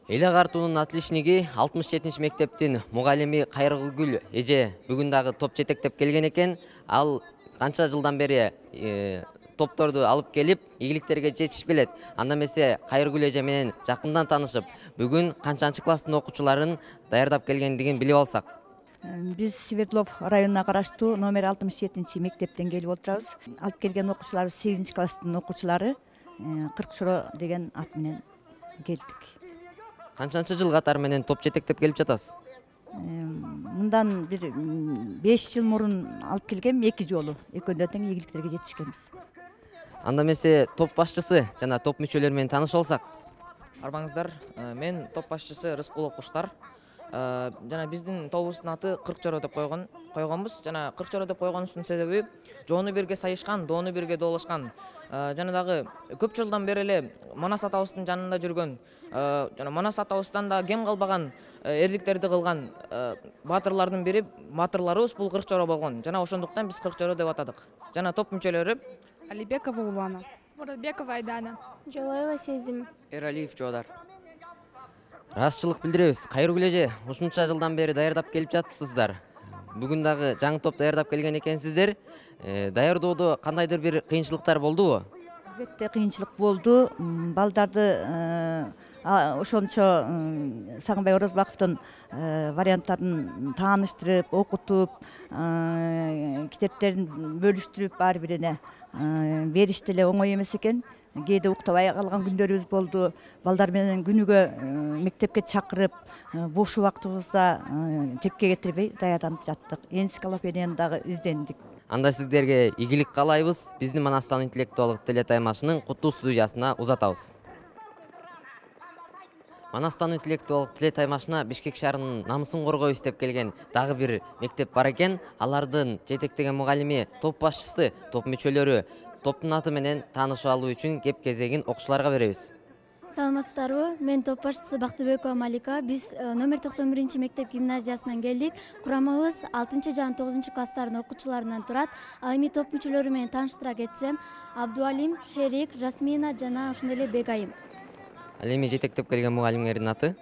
Эл агартуунун отличниги 67 мектептин мугалими Кайрыгүл эже бүгүн дагы топ жетектеп келген экен. Ал канча жылдан бери топторду алып келип, ийгиликтерге жетишип келет. Анда эмесе Кайрыгүл эже менен жакындан таанышып, бүгүн канчанчы класстын окуучуларын даярдап келгендигин билип алсак. Биз Свердлов районуна караштуу номер 67 мектептен келип отурабыз. Алып келген окуучуларыбыз 8 класстын окуучулары. Кыркчоро деген ат менен келдик. Канчанчы жыл катары менен топ жетектеп келип жатасыз? Мындан бир 5 жыл мурун алып келгем, 2 жолу. Экөөндө тең ийгиликтерге жетишкенбиз. Анда эмесе топ башчысы жана топ мүчөлөрү менен таанышып алсак. Арбаңыздар, мен топ башчысы Рыскулов Куштар. Жана биздин тобубуздун аты Кыркчоро деп койгонбуз. Жана Кыркчоро деп койгонубуздун себеби жоону бирге сайышкан, доону бирге доолошкан. Жана дагы көп жылдан бери эле Манас атабыздын жанында жүргөн, жана Манас атабыздан да кем калбаган эрдиктерди кылган баатырлардын бири баатырларыбыз бул Кыркчоро болгон. Жана ошондуктан биз Кыркчоро деп атадык. Жана топ мүчөлөрү Алибекова Улана, Муратбекова Айдана, Жолоева Сезим, Эралиев Жоодар. Ыраазычылык билдиребиз. Кайрыгүл эже, ушунча жылдан бери даярдап келип жатыпсыздар. Бүгүн дагы жаңы топ даярдап келген экенсиздер. Даярдоодо кандайдыр бир кыйынчылыктар болдубу? Албетте кыйынчылык болду. Балдарды ошончо Сагынбай Орозбаковдун варианттарын тааныштырып, окутуп, китептерин бөлүштүрүп ар бирине бериш деле оңой эмес экен. Кээде уктабай калган күндөрүбүз болду. Балдар менен күнүгө мектепке чакырып, бош убактыбызда тепке кетирбей даярданып жаттык. Энциклопедияны дагы издендик. Анда сиздерге ийгилик каалайбыз. Биздин Манастан интеллектуалдык телетаймашынын куттуу студиясына узатабыз. Манастан интеллектуалдык телетаймашына Бишкек шаарынын намысын коргойбуз деп келген дагы бир мектеп бар экен. Алардын жетектеген мугалими, топ башчысы, топ мүчөлөрү топтун аты менен таанышып алуу үчүн кеп кезегин окуучуларга беребиз. саламатсыздарбы? Мен топ башчысы Бактыбекова Малика. Биз номер 91 мектеп гимназиясынан келдик. Курамыбыз 6 жана 9 класстардын окуучуларынан турат. Ал эми топ мүчөлөрү менен тааныштыра кетсем, Абдуалим, Шерик, Жасмина жана ошондой эле Бегайым. Ал эми жетектеп келген мугалимдердин аты?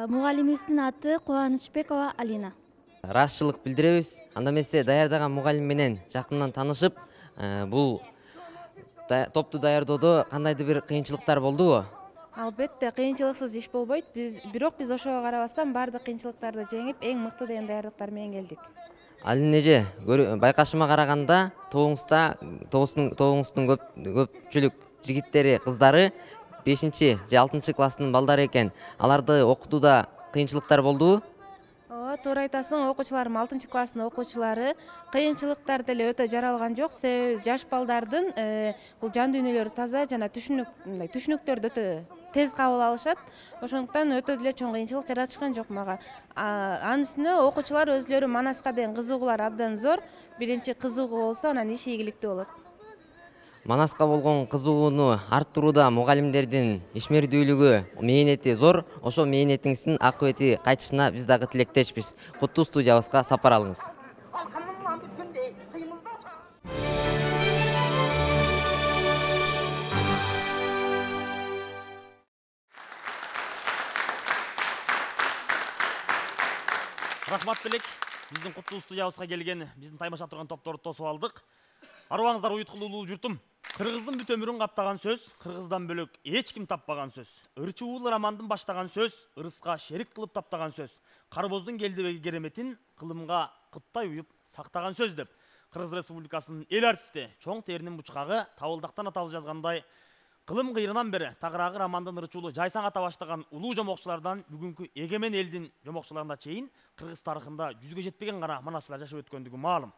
Мугалимибиздин аты Кубанычбекова Алина. Ыраазычылык билдиребиз. Анда эмесе даярдаган мугалим менен жакындан таанышып, бул топту даярдоодо кандайдыр бир кыйынчылыктар болдубу? Албетте кыйынчылыксыз иш болбойт. Бирок биз ошого карабастан баардык кыйынчылыктарды жеңип, эң мыкты деген даярдыктар менен келдик. Алин эже, байкашыма караганда тобуңуздун көпчүлүк жигиттери, кыздары 5 же 6 класстын балдары экен. Аларды окутууда кыйынчылыктар болдубу? Ооба, туура айтасың. Окуучуларым 6 класстын окуучулары. Кыйынчылыктар деле өтө жаралган жок. Себеби жаш балдардын бул жан дүйнөлөрү таза жана түшүнүктөрдү өтө тез кабыл алышат. Ошондуктан өтө деле чоң кыйынчылык жаратышкан жок мага. Анын үстүнө окуучулар өзлөрү Манаска деген кызыгуулар абдан зор. Биринчи кызыгуу болсо, анан иш ийгиликтүү болот. Манаска болгон кызыгууну арттырууда мугалимдердин ишмердүүлүгү, мээнети зор. Ошо мээнетиңиздин акыбети кайтышына биз дагы тилектешпиз. Куттуу студиябызга сапар алыңыз. Рахмат белек. Биздин куттуу студиябызга келген биздин таймашап турган топторду тосуп алдык. Арыбаңыздар уюткулуулуу журтум. Кыргыздын бүт өмүрүн каптаган сөз, кыргыздан бөлөк эч ким таппаган сөз. Ырчы уулу романдын баштаган сөз, ырыска шерик кылып таптаган сөз. Карбоздун келдибеги кереметин кылымга кыттай уюп сактаган сөз деп Кыргыз Республикасынын эл артисти, чоң теринин бучкагы Табылдактан аталы жазгандай, кылым кыйрынан бери тагыраагы романдын ырчуулу жайсаң ата баштаган улуу жомокчулардан бүгүнкү эгемен элдин жомокчуларына чейин кыргыз тарыхында жүзгө жетпеген гана манасчылар жашап өткөндүгү маалым.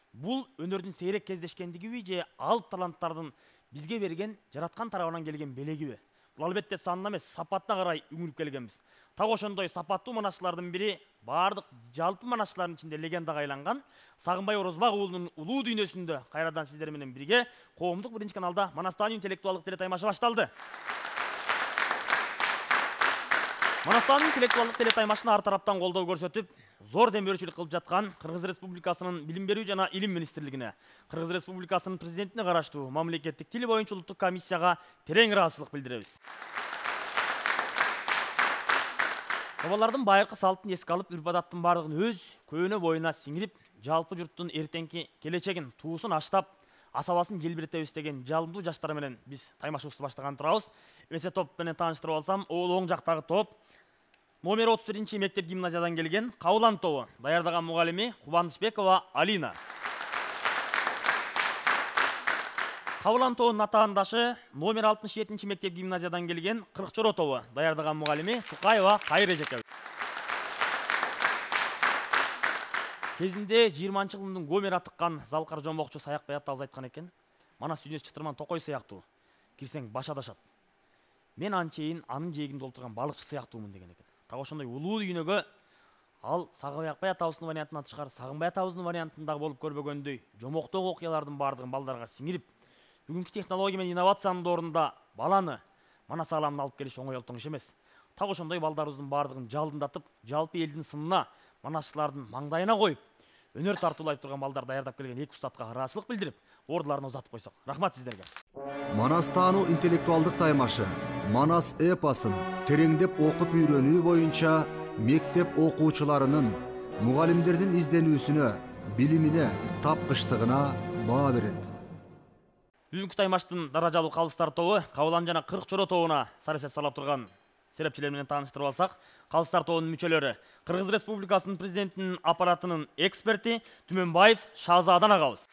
Бул өнөрдүн сейрек кездешкендигиби же алып таланттардын бизге берген жараткан тарабынан келген белегиби? Бул албетте санына эмес, сапатына карай үңүлүп келгенбиз. Так ошондой сапаттуу манасчылардын бири баардык жалпы манасчылардын ичинде легендага айланган Сагынбай Орозбак уулунун улуу дүйнөсүндө кайрадан сиздер менен бирге коомдук биринчи каналда Манастан интеллектуалдык телетаймашы башталды. Манастан интеллектуалдык телетаймашына ар тараптан колдоо көрсөтүп, зор демөөрчүлүк кылып жаткан Кыргыз Республикасынын Билим берүү жана Илим министрлигине, Кыргыз Республикасынын президентине караштуу мамлекеттик тил боюнча улуттук комиссияга терең ыраазычылык билдиребиз. Бабалардын байыркы салтын эске алып, үрп-адаттын бардыгын өз көөнө боюна сиңирип, жалпы журттун эртеңки келечегин, туусун аштап, асабасын желбиретебиз деген жалындуу жаштар менен биз таймашыбызды баштаган турабыз. Эмесе топ менен тааныштырып алсам, ол оң жактагы топ номер 31 мектеп гимназиядан келген Кабылан тобу. Даярдаган мугалими Кубанычбекова Алина. Кабылан тобунун атаандашы номер 67 мектеп гимназиядан келген Кыркчоро тобу. Даярдаган мугалими Тукаева Кайыр эжеке. Кезинде 20-жылдын Гомер атыккан Залкар жомокчу Саякбай атабыз айткан экен. Манас дүйнөсү чытырман токой сыяктуу. Кирсең баш адашат. Мен анчейин анын жээгинде олтурган балыкчы сыяктуумун деген экен. Так ошондой улуу дүйнөгө ал Сагынбай атабыздын вариантынан тышкары Сагынбай атабыздын вариантындагы болуп көрбөгөндөй жомоктогу окуялардын бардыгын балдарга сиңирип, бүгүнкү технология менен инновациянын ордунда баланы Манас ааламына алып келиш оңой олтоң иш эмес. Так ошондой балдарыбыздын бардыгын жалындатып, жалпы элдин сынына, манасчылардын маңдайына коюп, өнөр тартуулай турган балдар даярдап келген эки устатка ыраазычылык билдирип, ордуларына узатып койсок. Рахмат сиздерге. Манас таануу интеллектуалдык таймашы Манас эпосын тереңдеп окуп үйрөнүү боюнча мектеп окуучуларынын, мугалимдердин изденүүсүнө, билимине, тапкычтыгына баа берет. Бүгүнкү таймаштын даражалуу калыстар тобу Кабылан жана Кыркчоро тобуна саресеп салап турган серепчилер менен тааныштырып алсак, калыстар тобунун мүчөлөрү Кыргыз Республикасынын президентинин аппаратынын эксперти Түмөнбаев Шазадан агабыз.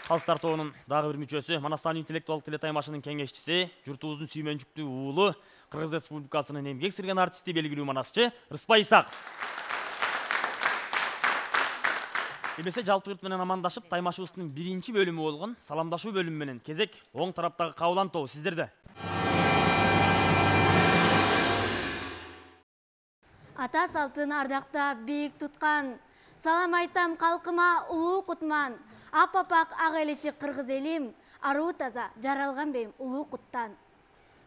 Калыстар тобунун дагы бир мүчөсү Манастан интеллектуалдык телетаймашынын кеңешчиси, журтубуздун сүймөнчүктүү уулу, Кыргыз Республикасынын эмгек сирген артисти, белгилүү манасчы Рыспай Исаков. Эмесе жалпы журт менен амандашып, таймашыбыздын биринчи бөлүмү болгон саламдашуу бөлүмү менен кезек оң тараптагы Кабылан тобу сиздерде. Ата салтын ардактап бийик туткан, салам айтам калкыма улуу кутман. Апапак ак элечи кыргыз элим, аруу таза жаралган бейим улуу куттан.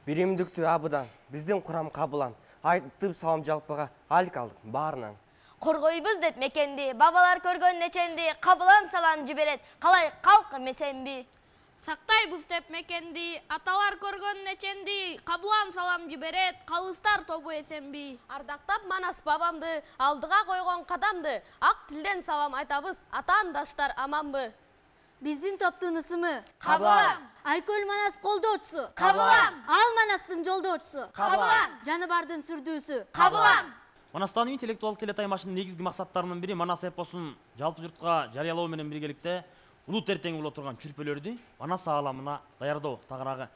Биримдиктүү абыдан, биздин курам Кабылан, айтып салам жалпыга алик алдык баарынан. Коргойбуз деп мекенди, бабалар көргөн неченди, Кабылан салам жиберет, калай калк эмесенби. Сактайбыз деп мекенди, аталар көргөн неченди, Кабылан салам жиберет, калыстар тобу эсенби. Ардактап Манас бабамды, алдыга койгон кадамды, ак тилден салам айтабыз, атаандаштар аманбы. Биздин топтун ысымы Кабылан. Айкөл Манас колдоочусу Кабылан. Ал Манастын жолдоочусу Кабылан. Жаныбардын сүрдүүсү Кабылан. Манастан интеллектуалдык телетаймашынын негизги максаттарынын бири Манас эпосун жалпы журтка жарыялоо менен биргеликте улут эртең боло турган чүрпөлөрдү Манас ааламына даярдоо, тагыраагы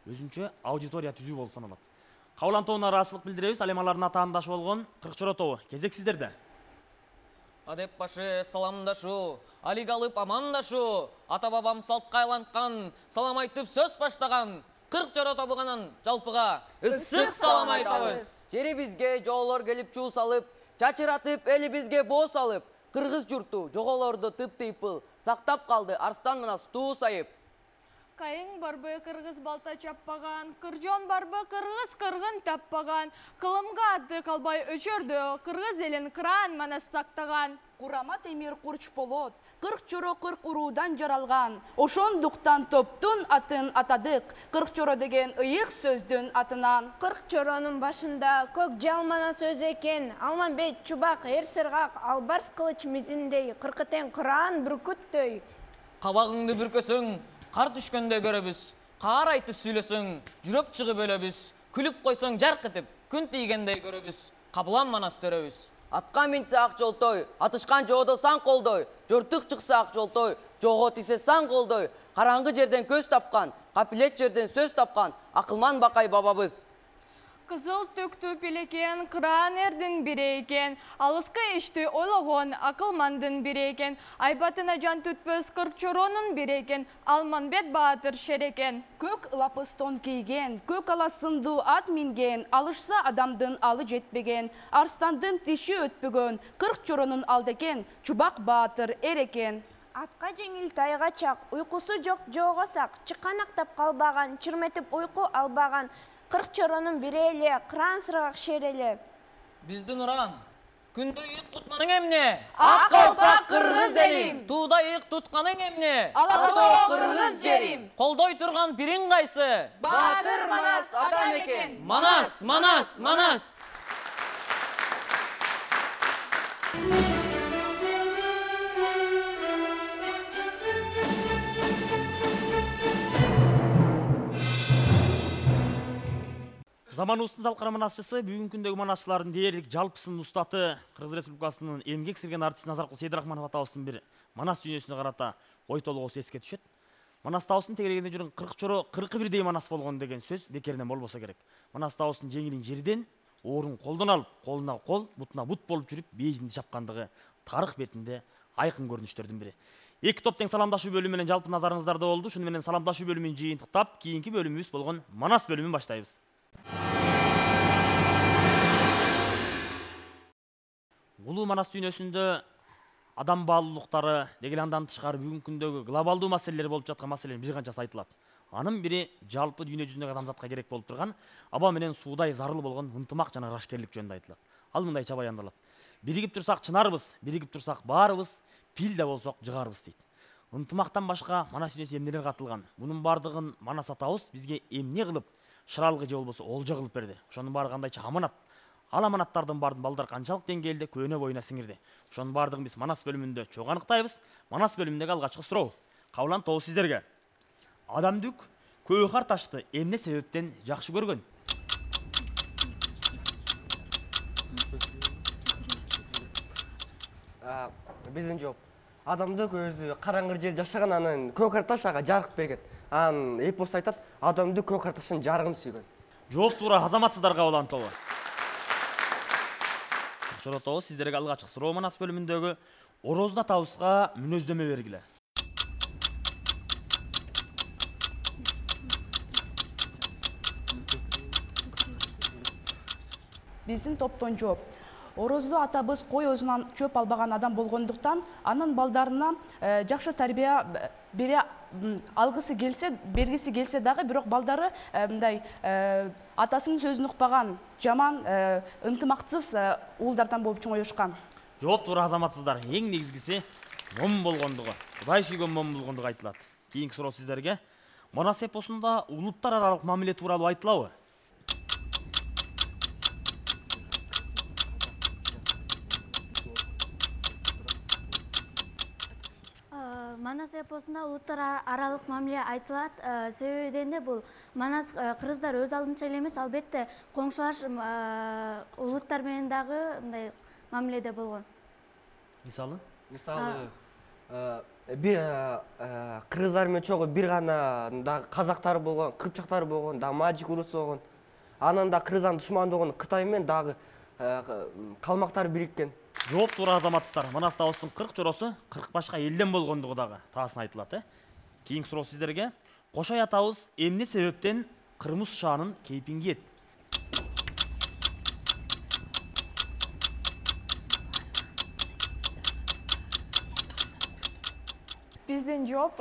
өзүнчө аудитория түзүү болуп саналат. Кабылан тобуна ыраазычылык билдиребиз. Ал эми алардын атаандашы болгон Кыркчоро тобу. Кезек сиздерде. Адеп башы саламдашуу, алик алып амандашуу, ата бабам салтка айланткан, салам айтып сөз баштаган Кыркчоро тобуганан жалпыга ысык салам айтабыз. Жерибизге жоолор келип чуу салып, чачыратып элибизге боо салып, кыргыз журту жоголорду тып-тыйпыл сактап калды Арстан Манас туу сайып. Кайың барбы кыргыз балта чаппаган, кыржон барбы кыргыз кыргын таппаган, кылымга аты калбай өчөрдү, кыргыз элин кыран Манас сактаган. Курама темир курч болот, Кыркчоро 40 уруудан жаралган. Ошондуктан топтун атын атадык, Кыркчоро деген ыйык сөздүн атынан. Кыркчоронун башында көк жалмана сөз экен, Алманбет чубак эр сыргак, албарс кылыч мизиндей, кыркытен кыран бүркүттөй. Кабагыңды бүркөсөң, кар түшкөндө көрөбүз, каар айтып сүйлөсөң, жүрөк чыгып өлөбүз, күлүп койсоң жарк этип, күн тийгендей көрөбүз, Кабылан Манас төрөбүз. Атка минсе ак жолтой, атышкан жоодо сан колдой, жортук чыкса ак жолтой, жоого тисе сан колдой, караңгы жерден көз тапкан, капилет жерден сөз тапкан, акылман бакай бабабыз. Кызыл түктүү пилекен, кыран эрдин бири экен, алыскы ишти ойлогон акылмандын бири экен, айбатына жан түтпөс Кыркчоронун бири экен, Алманбет баатыр шерекен. Көк лапыс тон кийген, көк ала сындуу ат минген, алышса адамдын алы жетпеген, арстандын тиши өтпөгөн, Кыркчоронун алды экен, чубак баатыр эр экен. Атка жеңил тайга чак, уйкусу жок жоого сак, чыканактап калбаган, чырметип уйку албаган, Кыркчоронун бири эле, кыран сыргак шер эле. Биздин уран, Күндө ыйык тутканың эмне? Ак калпак кыргыз элим. Тууда ыйык тутканың эмне? Ала тоо кыргыз жерим. Колдой турган бириң кайсы? Баатыр Манас атам экен. Манас, Манас, Манас. Заманыбыздын залкара манасчысы бүгүнкү күндөгү манасчылардын дээрлик жалпысын устаты Кыргыз Республикасынын эмгек сирген артисти Назаркул Сейдирахманов атабыздын бир манас дүйнөсүнө карата ой толгоосу эске түшөт. Манас табыздын тегерегинде жүргөн 40 чоро 41 манас болгон деген сөз бекеринен болбосо керек. Манас табыздын жеңилин жерден, оорун колдон алып, колуна кол, бутуна бут болуп жүрүп, бейжинди чапкандыгы тарых бетинде айкын көрүнүштөрдүн бири. Эки топ тең саламдашуу бөлүмү менен жалпы назарыңыздарда болду. Шуну менен саламдашуу бөлүмүн жыйынтыктап, кийинки бөлүмүбүз болгон манас бөлүмүн баштайбыз. Улуу манас дүйнөсүндө адам баалуулуктары деги андан тышкары бүгүнкү күндөгү глобалдуу маселелер болуп жаткан маселенин бир канчасы айтылат. Анын бири жалпы дүйнө жүзүндөгү адамзатка керек болуп турган аба менен суудай зарыл болгон ынтымак жана ырашкерлик жөнүндө айтылат. Ал мындайча баяндалат. Биригип турсак чынарбыз, биригип турсак баарыбыз, пил да болсок жыгарбыз дейт. Ынтымактан башка манас дүйнөсүнө эмнелер катылган? Мунун баардыгын манас атабыз бизге эмне кылып, шыралгы же болбосо олжо кылып берди. Ошонун баары кандайча аманат. Ал аманаттардын баарын балдар канчалык деңгээлде көөнө боюна сиңирди. Ошонун баардыгын биз манас бөлүмүндө чогуу аныктайбыз. Манас бөлүмүндөгү алгачкы суроо. Кабыл тобу сиздерге. Адамдык көөхар ташты эмне себептен жакшы көргөн? Биздин жооп. Адамдык өзү караңгы жер жашаган, анан көөхар таш ага жарык берген. Анан эпос айтат, адамдык көөхар таштын жарыгын сүйгөн. Жооп туура азаматсыздар кабыл тобу. Чоротобу сиздерге алгачкы суроо манас бөлүмүндөгү орозду атабызга мүнөздөмө бергиле. Биздин топтон жооп. Орозду атабыз кой өзүнөн чөп албаган адам болгондуктан, анын балдарына жакшы тарбия бере алгысы келсе, бергиси келсе дагы, бирок балдары мындай атасынын сөзүн укпаган, жаман, ынтымаксыз уулдардан болуп чоңоюшкан. Жооп туура азаматсыздар. Эң негизгиси мом болгондугу, Кудай сүйгөн мом болгондугу айтылат. Кийинки суроо сиздерге. Манас эпосунда улуттар аралык мамиле тууралуу айтылабы? Манас эпосунда улуттар аралык мамиле айтылат. Себеби дегенде бул манас кыргыздар өз алдынча эле эмес, албетте коңшулаш улуттар менен дагы мындай мамиледе болгон. Мисалы бир кыргыздар менен чогуу бир гана дагы казактар болгон, кыпчактар болгон, дагы мажик урусу болгон. Анан да кыргыздан душмандуу болгон Кытай менен дагы калмактар бириккен. Жооп туура азаматсыздар. Манас табыздын 40 чоросу 40 башка элден болгондугу дагы таасын айтылат. Кийинки суроо сиздерге. Кошой атабыз эмне себептен кырмыз шаанын кейпин кийет? Биздин жооп,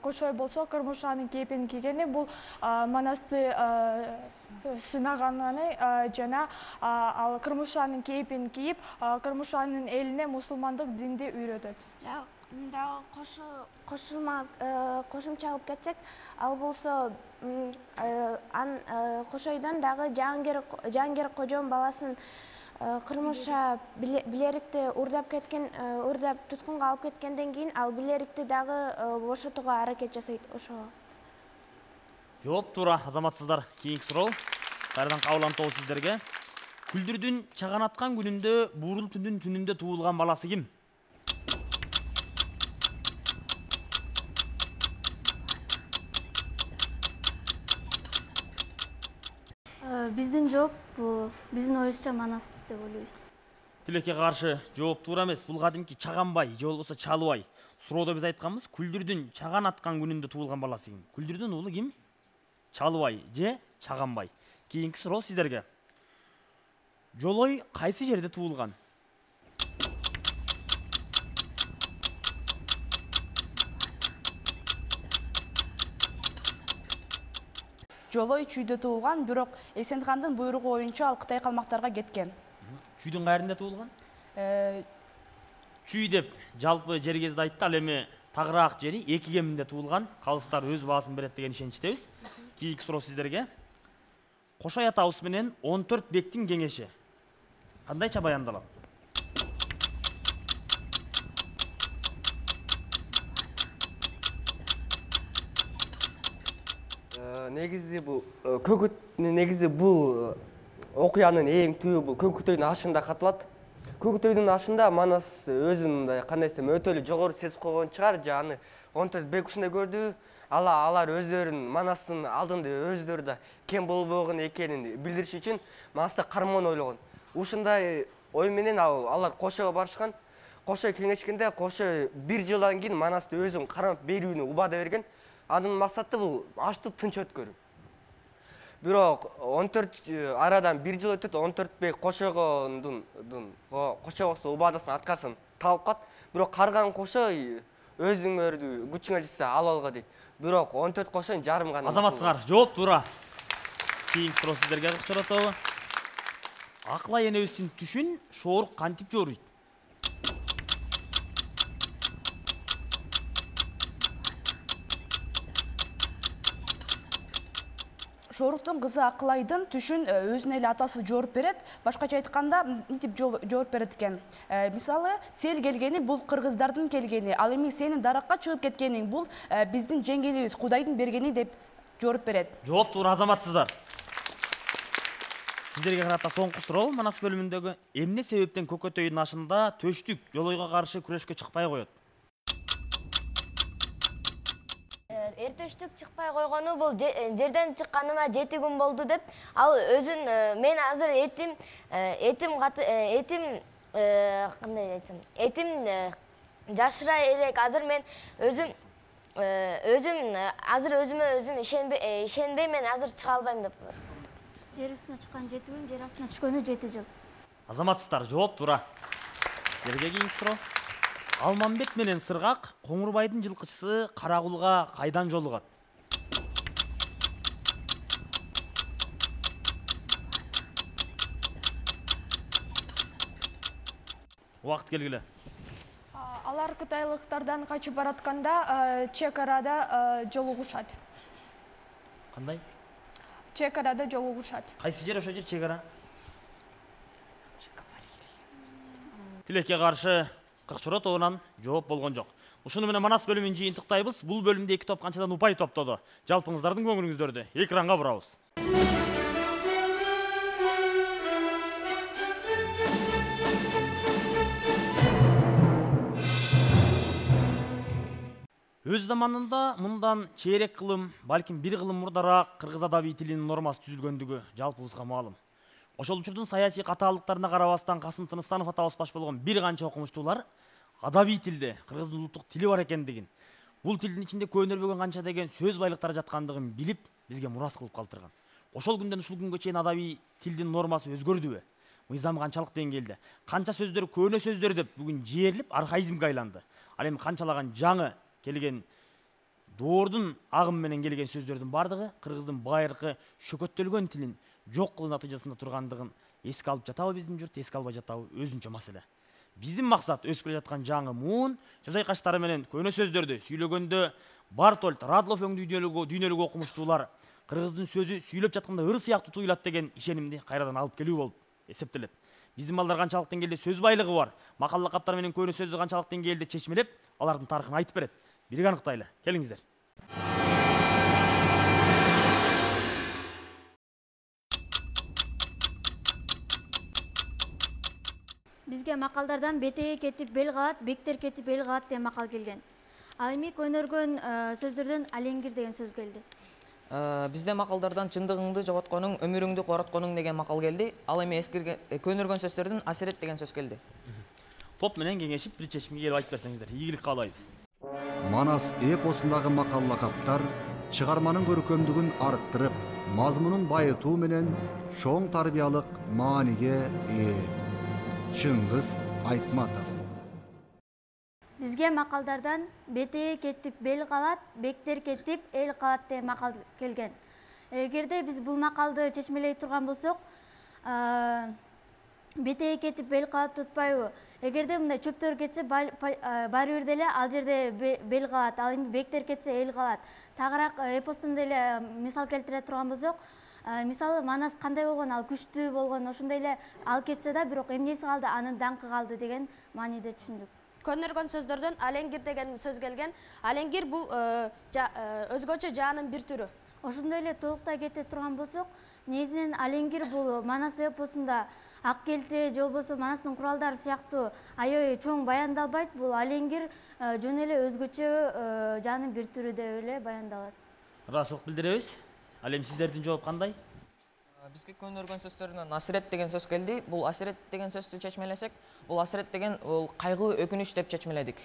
Кошой болсо кырмыз шаанын кейпин кийгени бул манасты сынаганын жана ал кырмыз шаанын кейпин кийип, кырмыз шаанын элине мусулмандык динди үйрөтөт. Кошумча алып кетсек, ал болсо Кошойдон дагы Жаангер кожон баласын кырмызша билерикти урдап туткунга алып кеткенден кийин ал билерикти дагы бошотууга аракет жасайт. Ошо. Жооп туура азаматсыздар. Кийинки суроо. Кайрадан кабыл тобу сиздерге. Күлдүрдүн чаган аткан күнүндө буурул түндүн түнүндө туулган баласы ким? Биздин жооп бул биздин оюбузча манас деп ойлойбуз. Тилекке каршы жооп туура эмес. Бул кадимки Чаганбай же болбосо Чалыбай. Суроодо биз айтканбыз, Күлдүрдүн чаган аткан күнүндө туулган баласы ким? Күлдүрдүн уулу ким? Чалыбай же Чаганбай. Кийинки суроо сиздерге. Жолой кайсы жерде туулган? Жолой Чүйдө туулган, бирок Эсенхандын буйругу боюнча ал Кытай калмактарга кеткен. Чүйдүн кайрында туулган? Чүй деп жалпы жер кезде айтты, ал эми тагыраак жери эки кеминде туулган, калыстар өз баасын берет деген ишеничтебиз. Кийинки суроо сиздерге. Кошой атабыз менен 14 бектин кеңеши кандайча баяндалат? Негизи бул окуянын эң түбү бул Көкүтөйдүн ашында катылат. Көкүтөйдүн ашында Манас өзүн мындай кандай десем өтө эле жогору сезип койгон чыгар, же аны 14 бек ушундай көрдү. Алар өздөрүн Манастын алдында өздөрү да кем болбогон экенин билдириш үчүн Манаста кармоон ойлогон. Ушундай ой менен алар Кошойго барышкан. Кошой кеңешкенде Кошой 1 жылдан кийин Манасты өзүн кармап берүүнү убада берген. Анын максаты бул ашты тынч өткөрүү. Бирок 14 арадан 1 жыл өтөт, 14 бек Кошойгодун Кошойгосу убадасын аткарсын талап кат. Бирок карган Кошой өзүңөрдү күчүңөр жетсе алып алга дейт. Бирок 14 Кошойдун жарым гана. Азаматсыңар, жооп туура. Кийинки суроо сиздерге чыгарат. Акылай энебиздин түшүн шоорук кантип жооруйт? Шооруктун кызы Акылайдын түшүн өзүнө эле атасы жооп берет. Башкача айтканда, мынтип жооп берет экен. Мисалы, сел келгени бул кыргыздардын келгени, ал эми сенин даракка чыгып кеткениң бул биздин жеңгелибиз, Кудайдын бергени деп жооп берет. Жооп туура, азаматсыздар. Сиздерге карата соңку суроо Манас бөлүмүндөгү. Эмне себептен Көкөтөйдүн ашында төштүк жолойго каршы күрөшкө чыкпай коет? Эртештик чыкпай койгону бул жерден чыкканыма 7 күн болду деп, ал өзүн мен азыр кандай айтсам, жашыра элек, азыр мен өзүм азыр өзүмө өзүм ишенбей мен азыр чыга албайм деп. Жер үстүнө чыккан 7 күн, жер астына түшкөнү 7 жыл. Азаматсыздар, жооп туура. Сиздерге кийинки суроо. Алмамбет менен Сыргак Коңурбайдын жылкычысы Карагулга кайдан жолугат? Убакыт келгиле. Алар кытайлыктардан качып баратканда чек арада жолугушат. Кандай? Чек арада жолугушат. Кайсы жер ошо жер чек ара? Тилекке каршы Кыркчоро тобунан жооп болгон жок. Ушуну менен Манас бөлүмүн жыйынтыктайбыз. Бул бөлүмдө 2 топ канчадан упай топтоду. Жалпыңыздардын көңүлүңүздөрдү экранга бурабыз. Өз заманында мындан чейрек кылым, балким 1 кылым мурдараак кыргыз адабий тилинин нормасы түзүлгөндүгү жалпыбызга маалым. Ошол учурдун саясий катаалыктарына карабастан Касым Тыныстанов атабыз баш болгон бир канча окумуштуулар адабий тилде кыргыздын улуттук тили бар экендигин, бул тилдин ичинде көөнөлбөгөн канча деген сөз байлыктары жаткандыгын билип, бизге мурас кылып калтырган. Ошол күндөн ушул күнгө чейин адабий тилдин нормасы өзгөрдүбү? Мыйзам канчалык деңгээлде? Канча сөздөр көөнө сөздөр деп бүгүн жээрлип архаизмге айланды. Ал эми канчалаган жаңы келген доордун агым менен келген сөздөрдүн бардыгы кыргыздын байыркы шөкөттөлгөн тилин жок кылуу натыйжасында тургандыгын эске алып жатабы биздин журт, эске албай жатабы өзүнчө маселе. Биздин максат өсүп келе жаткан жаңы муун сөз айкаштары менен көөнө сөздөрдү сүйлөгөндө Бартольд, Радлов өңдүү дүйнөлүк окумуштуулар кыргыздын сөзү сүйлөп жатканда ыр сыяктуу туюлат деген ишенимди кайрадан алып келүү болуп эсептелет. Биздин балдар канчалык деңгээлде сөз байлыгы бар, макал лакаптар менен көөнө сөздү канчалык деңгээлде чечмелеп, алардын тарыхын айтып берет. Бирге аныктайлы. Келиңиздер. Бизге макалдардан бетеге кетип бел калат, бектер кетип эл калат деген макал келген. Ал эми көнөргөн сөздөрдөн алеңгир деген сөз келди. Бизде макалдардан чындыгыңды жоготконуң, өмүрүңдү коротконуң деген макал келди. Ал эми көнөргөн сөздөрдөн асирет деген сөз келди. Топ менен кеңешип бир чечимге келип айтып берсеңиздер, ийгилик каалайбыз. Манас эпосундагы макал лакаптар чыгарманын көркөмдүгүн арттырып, мазмунун байытуу менен чоң тарбиялык мааниге ээ. Чыңгыз Айтматов. Бизге макалдардан бетеге кетип бел калат, бектер кетип эл калат деген макал келген. Эгерде биз бул макалды чечмелей турган болсок, бетеге кетип бел калат тутпайбы? Эгерде мындай чөптөр кетсе баары бир деле ал жерде бел калат, ал эми бектер кетсе эл калат. Тагыраак эпостун деле мисал келтире турган болсок, мисалы Манас кандай болгон, ал күчтүү болгон, ошондой эле ал кетсе да, бирок эмнеси калды, анын даңкы калды деген мааниде түшүндүк. Көнөргөн сөздөрдөн алеңгир деген сөз келген. Алеңгир бул өзгөчө жаанын бир түрү. Ошондой эле толуктай кете турган болсок, негизинен алеңгир бул Манас эпосунда ак келте же болбосо Манастын куралдары сыяктуу аябай чоң баяндалбайт. Бул алеңгир жөн эле өзгөчө жаанын бир түрү деп эле баяндалат. Ыраазычылык билдиребиз. Ал эми сиздердин жооп кандай? Бизге көнөргөн сөздөрүнөн асирет деген сөз келди. Бул асирет деген сөздү чечмелесек, бул асирет деген бул кайгы, өкүнүч деп чечмеледик.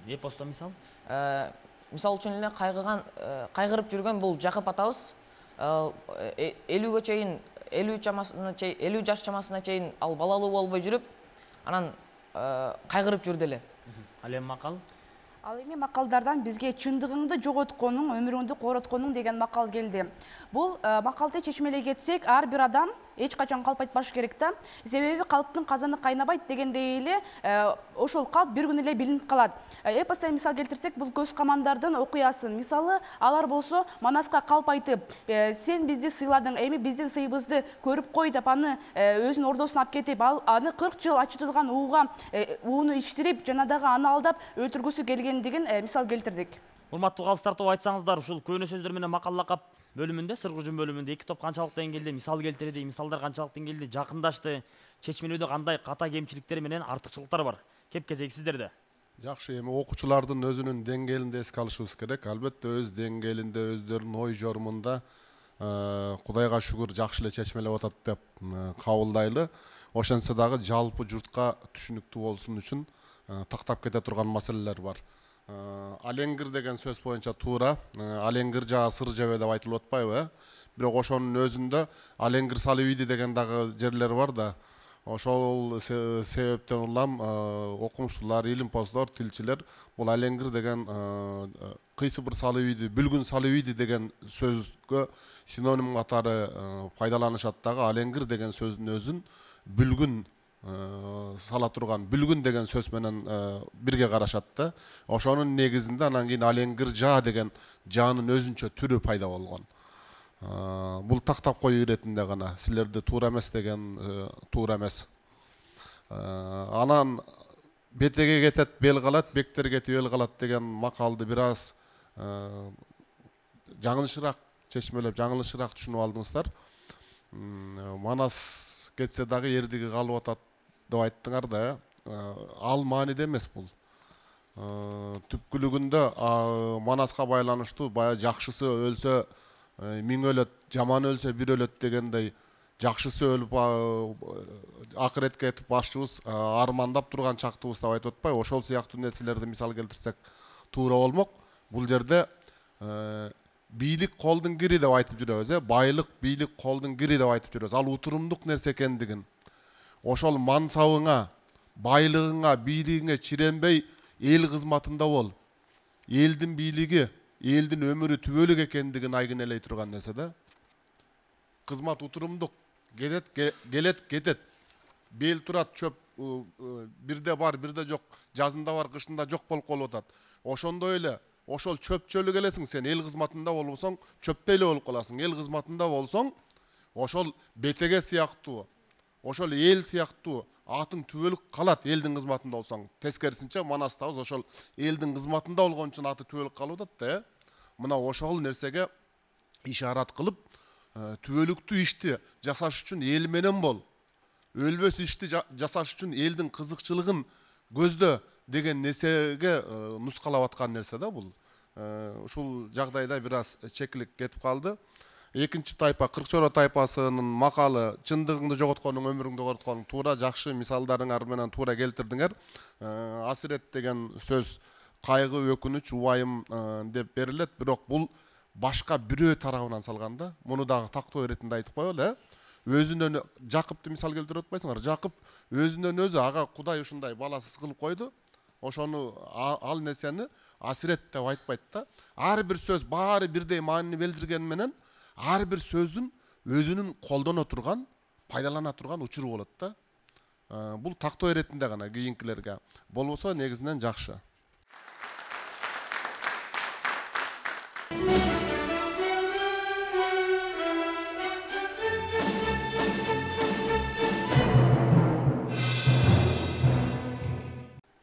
Эпосто мисал? Мисал үчүн эле кайгырып жүргөн бул Жакып атабыз 50 чейин 50 жаш чамасына чейин ал балалуу болбой жүрүп, анан кайгырып жүрдү эле. Ал эми макал? Ал эми макалдардан бизге чындыгыңды жоготконуң, өмүрүңдү коротконуң деген макал келди. Бул макалды чечмелей кетсек, ар бир адам эч качан калп айтпаш керек да. Себеби калптын казаны кайнабайт дегендей эле ошол калп бир күн эле билинип калат. Эпостон мисал келтирсек, бул көз камандардын окуясын. Мисалы, алар болсо Манаска калп айтып, сен бизди сыйладың, эми биздин сыйыбызды көрүп кой деп аны өзүнүн ордосуна алып кетип, аны 40 жыл ачытылган ууга ууну ичтирип, жана дагы аны алдап өлтүргүсү келген деген мисал келтирдик. Урматтуу калыс тартып айтсаңыздар, ушул көөнө сөздөр менен макаллакап бөлүмүндө, сыргыжын бөлүмүндө эки топ канчалык деңгээлде мисал келтирди, мисалдар канчалык деңгээлде жакындашты, чечмелөөдө кандай ката кемчиликтер менен артыкчылыктар бар? Кеп-кезек сиздерде. Жакшы, эми окуучулардын өзүнүн деңгээлинде эске алышыбыз керек. Албетте өз деңгээлинде, өздөрүнүн ой жорумунда Кудайга шүгүр жакшы эле чечмелеп атат деп кабылдайлы. Ошентсе дагы жалпы журтка түшүнүктүү болсун үчүн тактап кете турган маселелер бар. Алеңгир деген сөз боюнча туура, алеңгир жаа сыр жебе деп айтылып атпайбы? Бирок ошонун өзүндө алеңгир салып ийди деген дагы жерлер бар да. Ошол себептен улам окумуштуулар, илимпоздор, тилчилер бул алеңгир деген кыйсы бир салып ийди, бүлгүн салып ийди деген сөзгө синоним катары пайдаланышат дагы. Алеңгир деген сөздүн өзүн бүлгүн сала турган, бүлгүн деген сөз менен бирге карашат да. Ошонун негизинде анан кийин алеңгир жаа деген жаанын өзүнчө түрү пайда болгон. Бул тактап коюу иретинде гана, силерде туура эмес деген туура эмес. Анан бетеге кетет бел калат, бектер кетип эл калат деген макалды бир аз жаңылышыраак чечмелеп, жаңылышыраак түшүнүп алдыңыздар. Манас кетсе дагы эрдиги калып атат деп айттыңар да, ал мааниде эмес бул. Түпкүлүгүндө Манаска байланыштуу баягы жакшысы өлсө миң өлөт, жаманы өлсө бир өлөт дегендей, жакшысы өлүп акыретке кетип башчыбыз армандап турган чактыбыз деп айтып атпайбы? Ошол сыяктуу нерселерди мисал келтирсек туура болмок. Бул жерде бийлик колдун кири деп айтып жүрөбүз, байлык, бийлик колдун кири деп айтып жүрөбүз. Ал утурумдук нерсе экендигин, ошол мансабыңа, байлыгыңа, бийлигиңе чиренбей эл кызматында бол. Элдин бийлиги, элдин өмүрү түбөлүк экендигин айгинелей турган нерсе да. Кызмат утурумдук, келет, кетет. Бел турат, чөп бирде бар, бирде жок, жазында бар, кышында жок болуп калып атат. Ошондой эле, ошол чөпчөлүк элесиң сен, эл кызматында болбосоң, чөптөй эле болуп каласың. Эл кызматында болсоң, ошол бетеге сыяктуу, ошол эл сыяктуу атың түбөлүк калат элдин кызматында болсоң. Тескерисинче Манастабыз ошол элдин кызматында болгон үчүн аты түбөлүк калып атат да. Мына ошол нерсеге ишарат кылып, түбөлүктүү ишти жасаш үчүн эл менен бол. Өлбөс ишти жасаш үчүн элдин кызыкчылыгын көздө деген нерсеге нускалап аткан нерсе да бул. Ушул жагдайда бир аз чекилик кетип калды. Экинчи тайпа, Кыркчоро тайпасынын макалы чындыгыңды жоготконуң, өмүрүңдү коротконуң туура, жакшы мисалдарыңар менен туура келтирдиңер. Асирет деген сөз кайгы, өкүнүч, убайым деп берилет, бирок бул башка бирөө тарабынан салганда, муну дагы тактоо иретинде айтып коелу, өзүнөн Жакыпты мисал келтирип атпайсыңар? Жакып өзүнөн өзү ага Кудай ушундай баласыз кылып койду. Ошону ал нерсени асирет деп айтпайт да. Ар бир сөз баары бирдей маанини билдирген менен ар бир сөздүн өзүнүн колдоно турган, пайдалана турган учуру болот да. Бул тактоо иретинде гана кийинкилерге. Болбосо негизинен жакшы.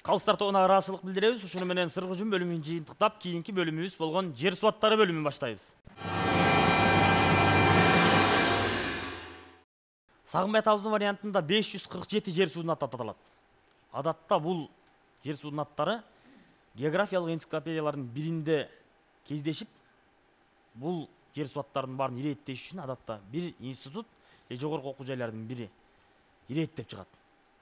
Калыстар тобуна ыраазычылык билдиребиз. Ушуну менен сыргыжым бөлүмүн жыйынтыктап, кийинки бөлүмүбүз болгон жер суу аттары бөлүмүн баштайбыз. Сагынбай атабыздын вариантында 547 жер суунун аты аталат. Адатта бул жер суунун аттары географиялык энциклопедиялардын биринде кездешип, бул жер суу аттарынын баарын иреттеш үчүн адатта бир институт же жогорку окуу жайлардын бири иреттеп чыгат.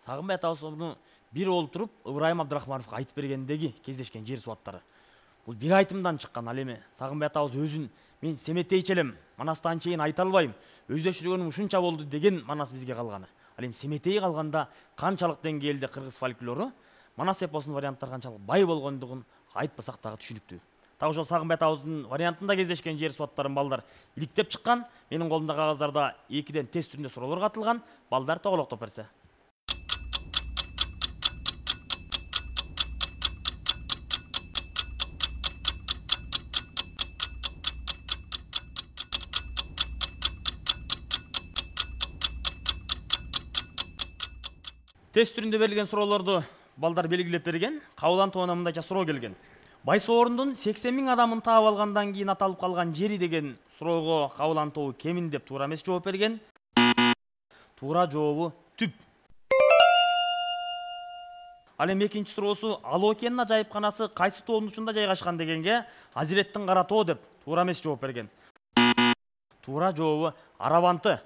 Сагынбай атабыз муну бир олтуруп Ыбырайым Абдрахмановго айтып бергендеги кездешкен жер суу аттары. Бул бир айтымдан чыккан. Ал эми Сагынбай атабыз өзүн мен семетейчи элем, Манастан чейин айта албайм, өздөштүргөнүм ушунча болду деген Манас бизге калганы. Ал эми семетей калганда канчалык деңгээлде кыргыз фольклору, Манас эпосунун варианттары канчалык бай болгондугун айтпасак дагы түшүнүктүү. Так ошол Сагынбай атабыздын вариантында кездешкен жер суу аттарын балдар иликтеп чыккан. Менин колумда кагаздарда 2ден тест түрүндө суроолор катылган. Балдар тоголоктоп берсе. Тест түрүндө берилген суроолорду балдар белгилеп берген. Кабыл антуана мындайча суроо келген. Байсоорундун 80.000 адамын таап алгандан кийин аталып калган жери деген суроого Кабыл антоо кемин деп туура эмес жооп берген. Туура жообу түп. Ал эми экинчи суроосу Ала океанын ажайыпканасы кайсы тоонун учунда жайгашкан дегенге Азиреттин кара тоо деп туура эмес жооп берген. Туура жообу Арабанты.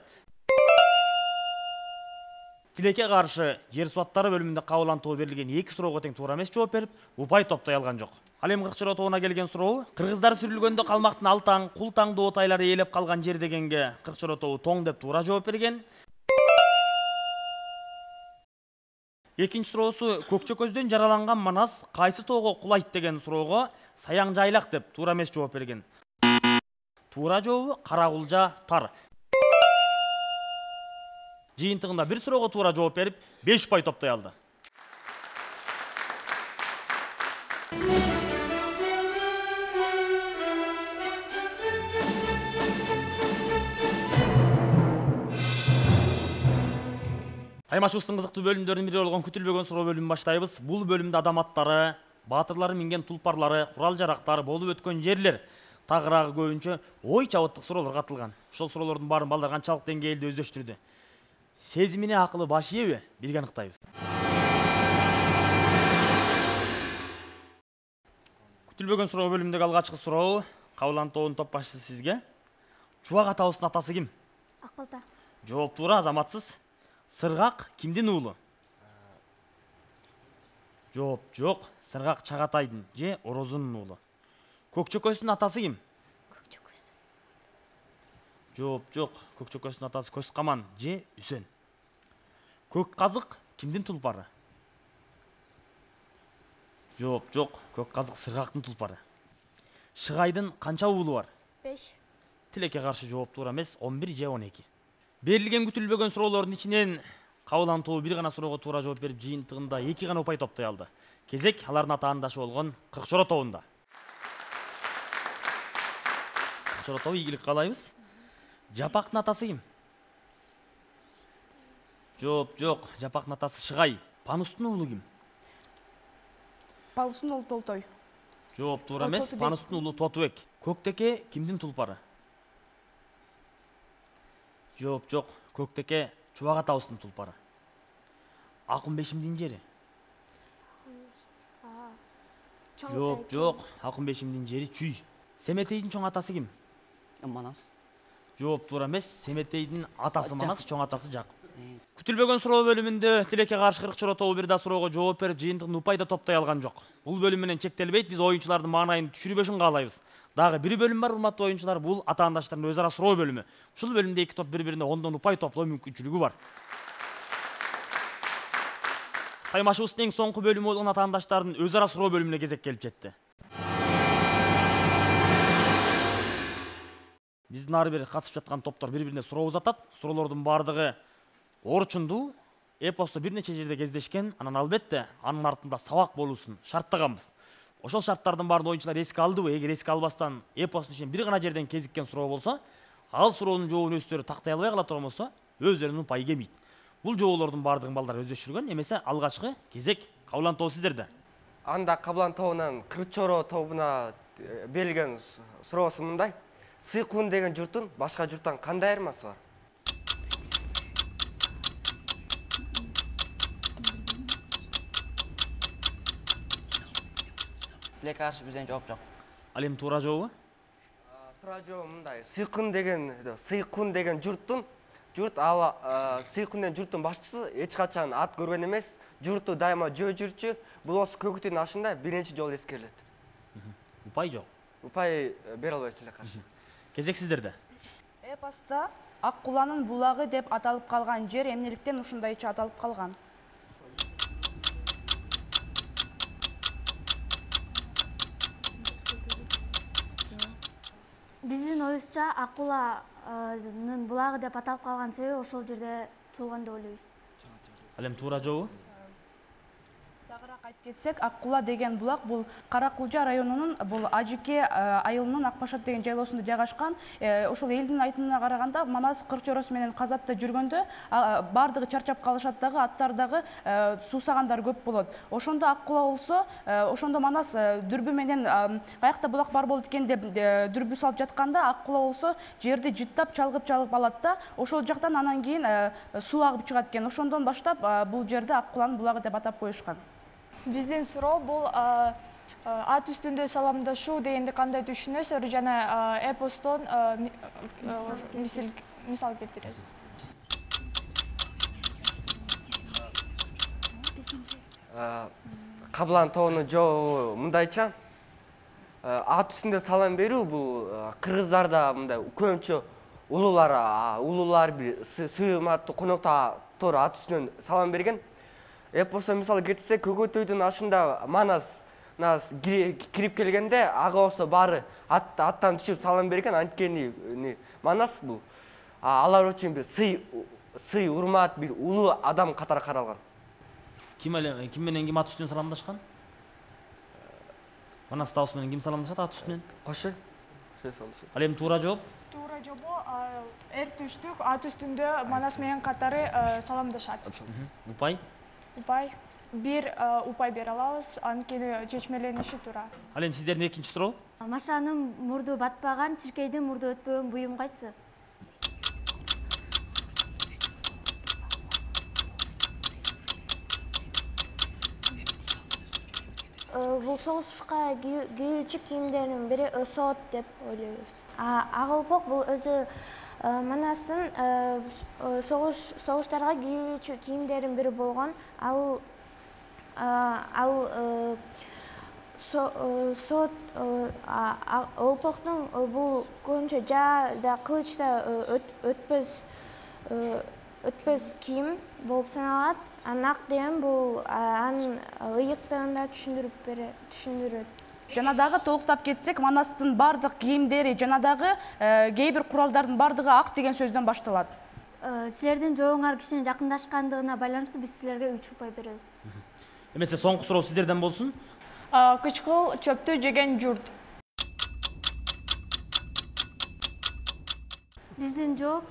Тилекке каршы жер суу аттары бөлүмүндө Кабыл антоо берилген 2 суроого тең туура эмес жооп берип, упай топтой алган жок. Ал эми Кыркчоро тоона келген суроо, кыргыздар сүрүлгөндө калмактын Алтаң, Култаң доотайлары ээлеп калган жер дегенге Кыркчоро тобу Тоң деп туура жооп берген. Экинчи суроосу Көкчөкөздөн жараланган Манас кайсы тоого кулайт деген суроого Саяң жайлак деп туура эмес жооп берген. Туура жообу Каракулжа тар. Жыйынтыгында бир суроого туура жооп берип, 5 упай топтой алды. Таймашыбыздын кызыктуу бөлүмдөрүнүн бири болгон күтүлбөгөн суроо бөлүмүн баштайбыз. Бул бөлүмдө адам аттары, баатырлары минген тулпарлары, курал-жарактар, болуп өткөн жерлер тагыраагы көбүнчө ой чабыттык суроолор катылган. Ошол суроолордун баарын балдар канчалык деңгээлде өздөштүрдү? Сезимине акылы баш ийеби? Бирге аныктайбыз. Күтүлбөгөн суроо бөлүмүндөгү алгачкы суроо Кабыл антоонун топ башчысы сизге. Чубак атабыздын атасы ким? Акбалта. Жооп туура, азаматсыз. Сыргак кимдин уулу? Жооп жок. Сыргак Чагатайдын же Орозунун уулу. Көкчөкөздүн атасы ким? Көкчөкөз. Жооп жок. Көкчөкөздүн атасы Көзкаман же Үсен. Көк казык кимдин тулпары? Жооп жок. Көк казык Сыргактын тулпары. Шыгайдын канча уулу бар? 5. Тилекке каршы жооп туура эмес, 11 же 12. Берилген күтүлбөгөн суроолордун ичинен Кабыл антоо бир гана суроого туура жооп берип, жыйынтыгында 2 гана упай топтой алды. Кезек алардын атаандашы болгон Кыркчоро тобунда. Кыркчоро тобу ийгилик каалайбыз. Жапактын атасы ким? Жооп жок. Жапактын атасы Шыгай. Панустун уулу ким? Панустун уулу Толтой. Жооп туура эмес. Панустун уулу Тотубек. Көктеке кимдин тулпары? Жооп жок. Көктеке Чубак атабыздын тулпары. Акын Бешимдин жери? Жооп жок. Акын Бешимдин жери Чүй. Семетейдин чоң атасы ким? Манас. Жооп туура эмес. Семетейдин атасы Манас, чоң атасы Жакып. Күтүлбөгөн суроо бөлүмүндө Тилекке каршы Кыркчоро тобу бир да суроого жооп берип, жыйынтыгын упай да топтой алган жок. Бул бөлүм менен чектелбейт, биз оюнчулардын маанайын түшүрбөшүн каалайбыз. Дагы бир бөлүм бар, урматтуу оюнчулар, бул атаандаштардын өз ара суроо бөлүмү. Ушул бөлүмдө 2 топ бири-бирине 10дон упай топлоо мүмкүнчүлүгү бар. Таймашыбыздын эң соңку бөлүмү болгон атаандаштардын өз ара суроо бөлүмүнө кезек келип жетти. Биздин ар бир катышып жаткан топтор бири-бирине суроо узатат. Суроолордун баардыгы орчундуу, эпосто бир нече жерде кездешкен, анан албетте анын артында сабак болуусун шарттаганбыз. Ошол шарттардын баарын оюнчулар эске алдыбы? Эгер эске албастан эпостун ичинен бир гана жерден кезиккен суроо болсо, ал суроонун жообун өздөрү тактай албай кала турган болсо, өздөрүнүн упайы кемейт. Бул жоолордун баардыгын балдар өздөштүргөн, эмесе алгачкы кезек Кабылан тобу сиздерде. Анда Кабылан тобунан Кырчоро тобуна берилген суроосу мындай: Сыйкуун деген журттун башка журттан кандай айырмасы бар? Тилекке каршы бизден жооп жок. Ал эми туура жообу? Туура жообу мындай: Сыйкуун деген журт ал Сыйкуун журттун башчысы эч качан ат көргөн эмес, журтту дайыма жөө жүрчү, булос көгүтүн ашында биринчи жолу эскерилет. Упай жок. Упай бере албайсыз эле каршы. Кезек сиздерде. Эпоста Ак куланын булагы деп аталып калган жер эмнеликтен ушундайча аталып калган? Биздин оюбузча Ак куланын булагы деп аталып калган себеби ошол жерде туулган деп ойлойбуз. Ал эми туура жообу? Тагыраак айтып кетсек, Ак кула деген булак бул Кара Кулжа районунун бул Ажике айылынын Акбашат деген жайлоосунда жайгашкан. Ошол элдин айтымына караганда, Манас Кырчороосу менен Казатта жүргөндө баардыгы чарчап калышат дагы, аттар дагы суусагандар көп болот. Ошондо Ак кула болсо, ошондо Манас дүрбү менен каякта булак бар болот экен деп дүрбү салып жатканда, Ак кула болсо жерди жыттап чалгып алат да, ошол жактан анан кийин суу агып чыгат экен. Ошондон баштап бул жерди Ак куланын булагы деп атап коюшкан. Биздин суроо бул ат үстүндө саламдашуу дегенди кандай түшүнөсүздөр жана эпостон мисал келтиресиз. Кабылан тобунун жообу мындайча: ат үстүндө салам берүү бул кыргыздарда мындай көбүнчө улуулар бир сыйматтуу коноктор ат үстүнөн салам берген. Эпосто мисалы кетсек, Көгөтөйдүн ашында Манас кирип келгенде, ага болсо баары аттан түшүп салам берген. Анткени Манас бул алар үчүн бир сый, урмат, бир улуу адам катары каралган. Ким менен ким ат үстүнөн саламдашкан? Манас табыс менен ким саламдашат ат үстүнөн? Кошы. Ал эми туура жооп? Туура жообу эр түштүк ат үстүндө Манас менен катары саламдашат. Упай? Упай. Бир упай бере алабыз, анткени чечмелениши туура. Ал эми сиздердин экинчи суроо? Машанын мурду батпаган, чиркейдин мурду өтпөгөн буюм кайсы? Бул согушка кийүүчү кийимдердин бири өсөт деп ойлойбуз. Ак олпок бул өзү Манастын согуштарга кийүүчү кийимдердин бири болгон. Ал олпоктун бул көбүнчө жаада, кылычта өтпөс кийим болуп саналат. Ак деген бул анын ыйыктыгын да түшүндүрөт. Жана дагы толуктап кетсек, Манастын бардык кийимдери жана дагы кээ бир куралдардын бардыгы ак деген сөздөн башталат. Силердин жообуңар кишинин жакындашкандыгына байланыштуу биз силерге 3 упай беребиз. Эмесе соңку суроо сиздерден болсун. Кычкыл чөптү жеген журт. Биздин жооп: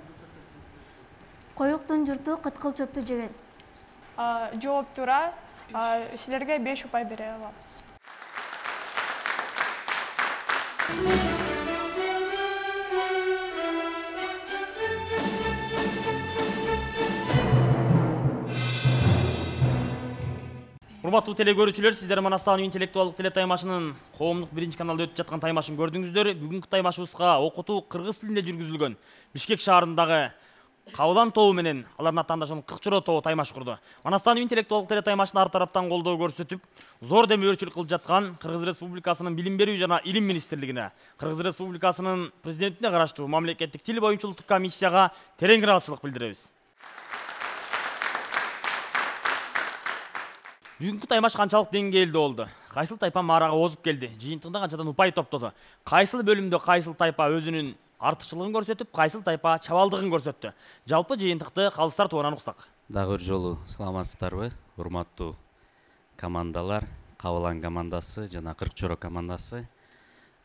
Коюктун журту кыткыл чөптү жеген. Жооп туура. Силерге 5 упай бере алабыз. Урматтуу телекөрүүчүлөр, сиздер Манастагы интеллектуалдык теле таймашынын коомдук биринчи каналда өтүп жаткан таймашын көрдүңүздөр. Бүгүнкү таймашыбызга окутуу кыргыз тилинде жүргүзүлгөн. Бишкек шаарындагы Кабылан тобу менен алардын атаандашын Кырчоро тобу таймаш курду. Манастагы интеллектуалдык теле таймашын ар тараптан колдоо көрсөтүп, зор демөөрчүлүк кылып жаткан Кыргыз Республикасынын Билим берүү жана Илим министрлигине, Кыргыз Республикасынын президентине караштуу мамлекеттик тил боюнча улуттук комиссияга терең ыраазычылык билдиребиз. Бүгүнкү таймаш канчалык деңгээлде болду? Кайсыл тайпа маарага озуп келди? Жыйынтыгында канчадан упай топтоду? Кайсыл бөлүмдө кайсыл тайпа өзүнүн артыкчылыгын көрсөтүп, кайсыл тайпа чабалдыгын көрсөттү? Жалпы жыйынтыкты калыстар тууран уксак. Дагы бир жолу саламатсыздарбы, урматтуу командалар, Кабылан командасы жана Кырк Чоро командасы.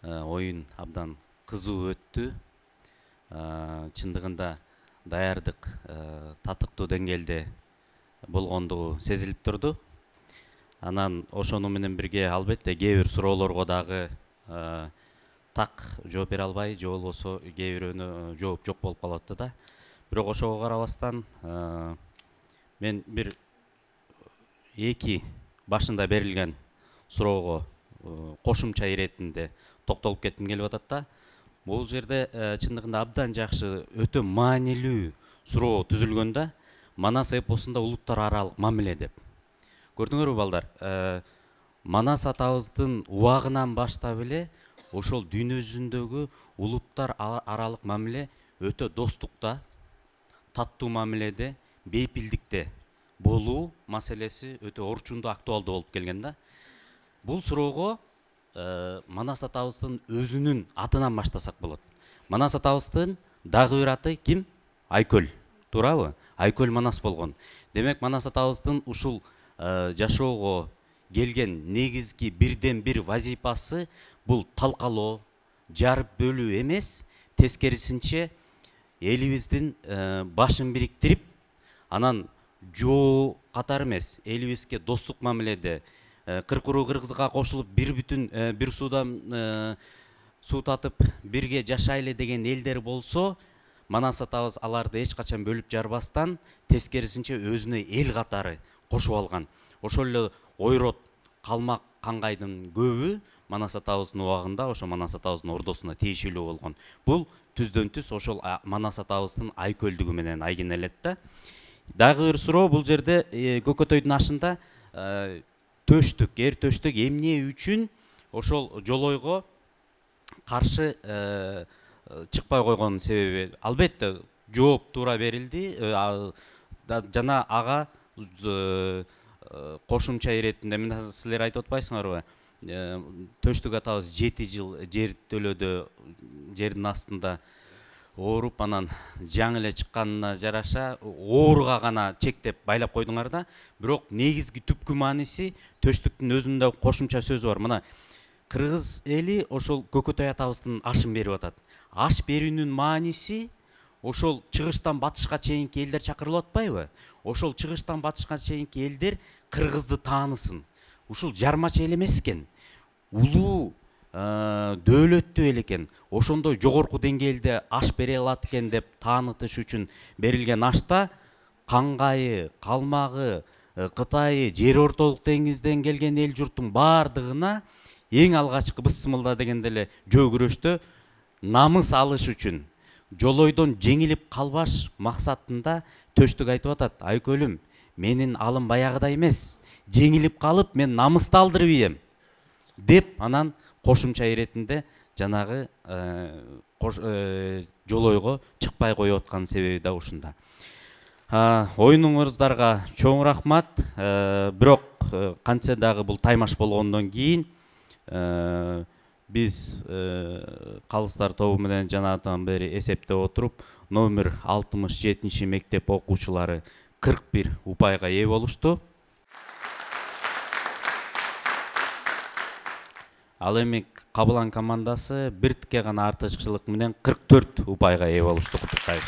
Оюн абдан кызуу өттү. Чындыгында даярдык татыктуу деңгээлде болгондугу сезилип турду. Анан ошону менен бирге албетте кээ бир суроолорго дагы так жооп бере албай, же болбосо кээ бирөөнө жооп жок болуп калып атты да. Бирок ошого карабастан мен бир эки башында берилген суроого кошумча иретинде токтолуп кетким келип атат да. Бул жерде чындыгында абдан жакшы, өтө маанилүү суроо түзүлгөн да. Манас эпосунда улуттар аралык мамиле деп. Көрдүңөрбү балдар? Манас атабыздын убагынан баштап эле ошол дүйнө жүзүндөгү улуттар аралык мамиле өтө достукта, таттуу мамиледе, бейпилдикте болуу маселеси өтө орчундуу, актуалдуу болуп келген да. Бул суроого Манас атабыздын өзүнүн атынан баштасак болот. Манас атабыздын дагы бир аты ким? Айкөл. Туурабы? Айкөл Манас болгон. Демек, Манас атабыздын ушул жашоого келген негизги бирден бир вазипасы бул талкалоо, жарып бөлүү эмес, тескерисинче элибиздин башын бириктирип, анан жоо катары эмес, элибизге достук мамиледе кыркуруу кыргызга кошулуп бир суудан суу татып бирге жашайлы деген элдер болсо, Манас атабыз аларды эч качан бөлүп жарбастан, тескерисинче өзүнө эл катары кошуп алган. Ошол эле ойрот, калмак, каңгайдын көбү Манас атабыздын убагында ошо Манас атабыздын ордосуна тиешелүү болгон. Бул түздөн түз ошол Манас атабыздын айкөлдүгү менен айгинелет да. Дагы бир суроо, бул жерде Көкөтөйдүн ашында төштүк, эр төштүк эмне үчүн ошол жолойго каршы чыкпай койгонун себеби? Албетте жооп туура берилди. Жана ага кошумча иретинде мына силер айтып атпайсыңарбы? Төштүк атабыз 7 жыл жер төлөдө, жердин астында ооруп, анан жаңы эле чыкканына жараша ооруга гана чектеп байлап койдуңар да. Бирок негизги түпкү мааниси төштүктүн өзүндө кошумча сөзү бар. Мына кыргыз эли ошол Көкөтөй атабыздын ашын берип атат. Аш берүүнүн мааниси ошол чыгыштан батышка чейинки элдер чакырылып атпайбы? Ошол чыгыштан батышка чейинки элдер кыргызды таанысын. Ушул жармача эл эмес экен. Улуу дөөлөттүү эл экен. Ошондой жогорку деңгээлде аш бере алат экен деп таанытыш үчүн берилген ашта каңгайы, калмагы, Кытайы, жер ортолук деңизден келген эл журттун баардыгына эң алгачкы бысмылда дегенде эле жөө күрөштө намыс алыш үчүн, жолойдон жеңилип калбаш максатында төштүк айтып атат: Айкөлүм, менин алым баягыдай эмес, жеңилип калып мен намысты алдырып ийем деп, анан кошумча иретинде жанагы жолойго чыкпай коюп аткан себеби да ушунда. Оюнуңуздарга чоң рахмат. Бирок кантсе дагы бул таймаш болгондон кийин биз калыстар тобу менен жанатан бери эсептеп отуруп, номер 67 мектеп окуучулары 41 упайга ээ болушту. Ал эми Кабылан командасы биртикке гана артыкчылык менен 44 упайга ээ болушту. Куттуктайбыз.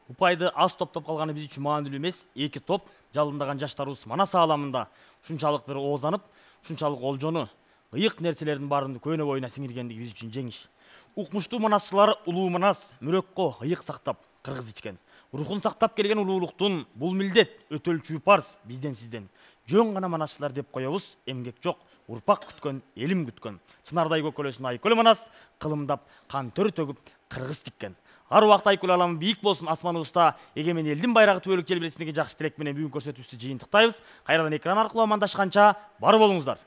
Упайды аз топтоп калганы биз үчүн маанилүү эмес. Эки топ жалындаган жаштарыбыз Манас ааламында ушунчалык бир оозанып, ушунчалык олжону, ыйык нерселердин баарын көөнө боюна сиңиргендиги биз үчүн жеңиш. Укмуштуу манасчылар улуу Манас мүрөккө ыйык сактап кыргыз ичкен. Рухун сактап келген улуулуктун бул милдет, өтөлчү парз бизден сизден. Жөн гана манасчылар деп коебуз, эмгек жок, урпак күткөн, элим күткөн. Чынардай көкөлөсүн Айкөл Манас кылымдап, кан төр төгүп кыргыз тиккен. Ар убакта Айкөл ааламы бийик болсун, асманыбызда эгемен элдин байрагы түбөлүк желбиресиндеги жакшы тилек менен бүгүн көрсөтүүбүздү жыйынтыктайбыз. Кайрадан экран аркылуу амандашканча бар болуңуздар.